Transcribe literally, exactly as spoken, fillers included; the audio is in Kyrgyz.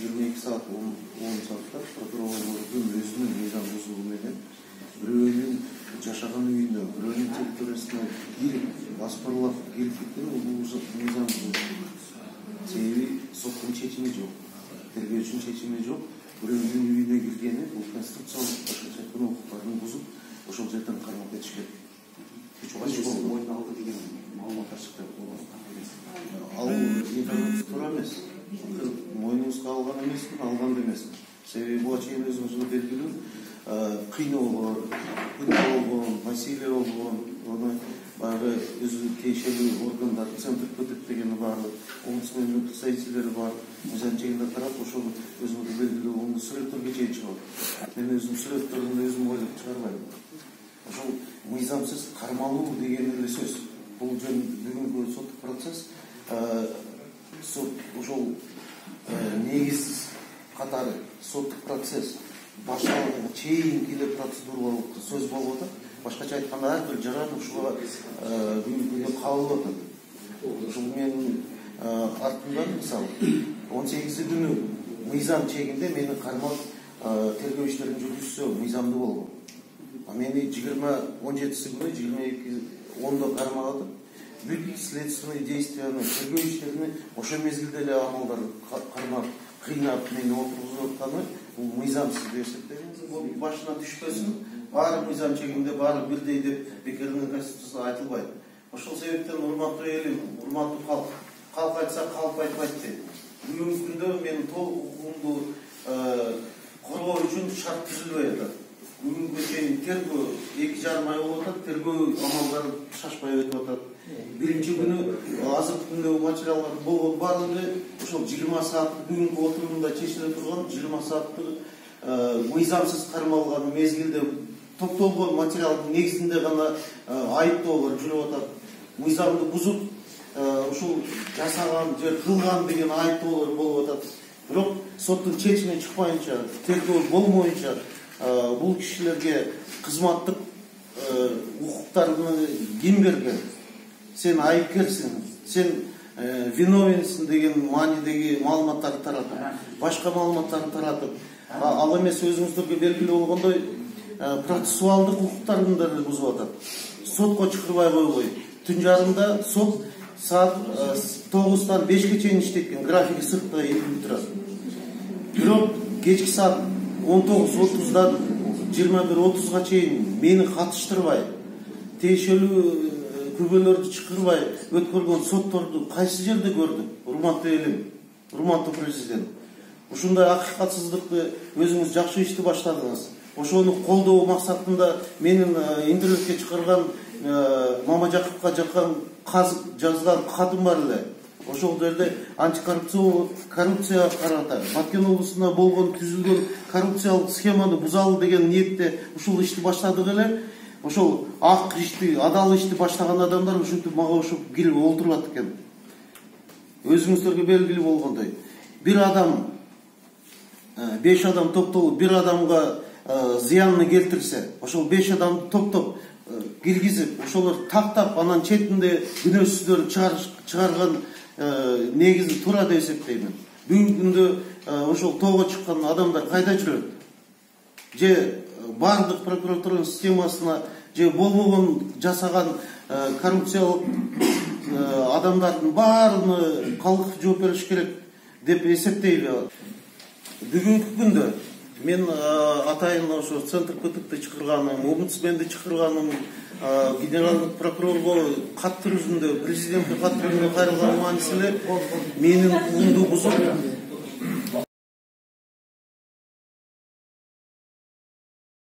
жыйырма эки саат он саатта прокурорлордун өзүнүн мыйзам бузугу менен бирөөнүн жашаган үйүнө, бирөөнүн территориясына кирип, баспырлап кирип кеткен бул мыйзам бузугу. Себеби соттун чечими жок, тергөөчүнүн чечими жок. Бирөөнүн үйүнө киргени бул конституциялык башкача айтканда укуктарын бузуп, ошол жерден кармап кетиш керек. Мойнуна алды деген маалыматтар чыкты. Ал информация туура эмес. Мойнубузга алган эмесмин, алган да эмесмин. Себеби буга чейин өзүңүзгө белгилүү кыйноолор, болгон, насилие болгон, аны баягы өзү тиешелүү органдар, центр ПТК дегени бар, омбудсмендин представителери бар. Мыйзам чегинде карап, ошол өзүңүзгө белгилүү оңду сүрөттөргө чейин чыгат. Мен өзүм сүрөттөрүн өзүм ойлоп чыгарбайм. Ошол мыйзамсыз кармалуу деген эле сөз. Бул жөн бүгүнкү соттук процесс сот ошол негизсиз катары соттук процесс башталганга чейинки эле процедуралык сөз болуп атат. Башкача айтканда ар бир жаран ушуга бүгүнкү күндө кабыл атат. Ошол менин артымдан мисалы он сегизи күнү мыйзам чегинде мени кармап тергөө иштерин жүргүзсө мыйзамдуу болгон. Мени жыйырма он жетиси күнү жыйырма эки ондо кармап атып, бүт следственный действияны, тергөө иштерини ошол мезгилде эле амалдар кармап, кыйнап мени отургузуп атканы бул мыйзамсыз деп эсептейм. Бул башына түшпөсүн, баары мыйзам чегинде, баары бирдей деп бекеринен конституцияда айтылбайт. Ошол себептен урматтуу элим, урматтуу калк, калк айтса калп айтпайт дейт. Бүгүнкү күндө менин толук укугумду коргоо үчүн шарт түзүлбөй атат. Бүгүнкү чейин тергөө эки жарым ай болуп атат, тергөө амалдары шашпай өтүп атат. Биринчи күнү азыркы күндөгү материалдар болгон баардыгы ошол жыйырма сааттык бүгүнкү отурумда чечиле турган жыйырма сааттык мыйзамсыз кармалган мезгилде топтолгон материалдын негизинде гана айыптоолор жүрүп атат. Мыйзамды бузуп ушул жасаган же кылган деген айыптоолор болуп атат. Бирок соттун чечими чыкпайынча, тергөө болмоюнча бул кишилерге кызматтык укуктарды ким берген? Сен айыпкерсиң, сен виновенсиң деген маанидеги маалыматтарды таратып, башка маалыматтарды таратып, ал эмес өзүңүздөргө белгилүү болгондой процессуалдык укуктарын да бузуп атат. Сотко чакырбай койбой, түн жарымда сот саат тогуздан бешке чейин иштеткен, графики сыртта илинип турат. Бирок кечки саат он тогуз отуздан жыйырма бир отузга чейин мени катыштырбай, тиешелүү күбөлөрдү чакырбай өткөргөн сотторду кайсы жерде көрдүк? Урматтуу элим, урматтуу президент. Ушундай акыйкатсыздыкты өзүңүз жакшы ишти баштадыңыз. Ошону колдоо максатында менин интернетке чыгарган Мамажаковго жаккан жазган катым бар эле. Ошол жерде антикоррупция коррупция карата Баткен облусунда болгон түзүлгөн коррупциялык схеманы бузалы деген ниетте ушул ишти баштадык эле. Ошол ак ишти, адал ишти баштаган адамдар ушинтип мага ошо кирип олтурат экен. Өзүңүздөргө белгилүү болгондой, бир адам, беш адам топтолуп бир адамга зыянны келтирсе, ошол беш адамды топтоп киргизип, ошолор тактап, анан четинде күнөөсүздөрдү чыгарган негизи туура деп эсептейм. Бүгүнкү күндө ошол тоого чыккан адамдар кайда жүрөт? Же бардык прокуратуранын системасына же болбогон жасаган коррупциялык адамдардын баарына калк жооп бериш керек деп эсептейби? Бүгүнкү күндө мен атайын ошо центр ПТКты чакырганым, омбудсменди чакырганым, генералдык прокурорго кат түрүзүндө, президентке кат түрүзүндө кайрылган мааниси эле менин укугумду бузуп,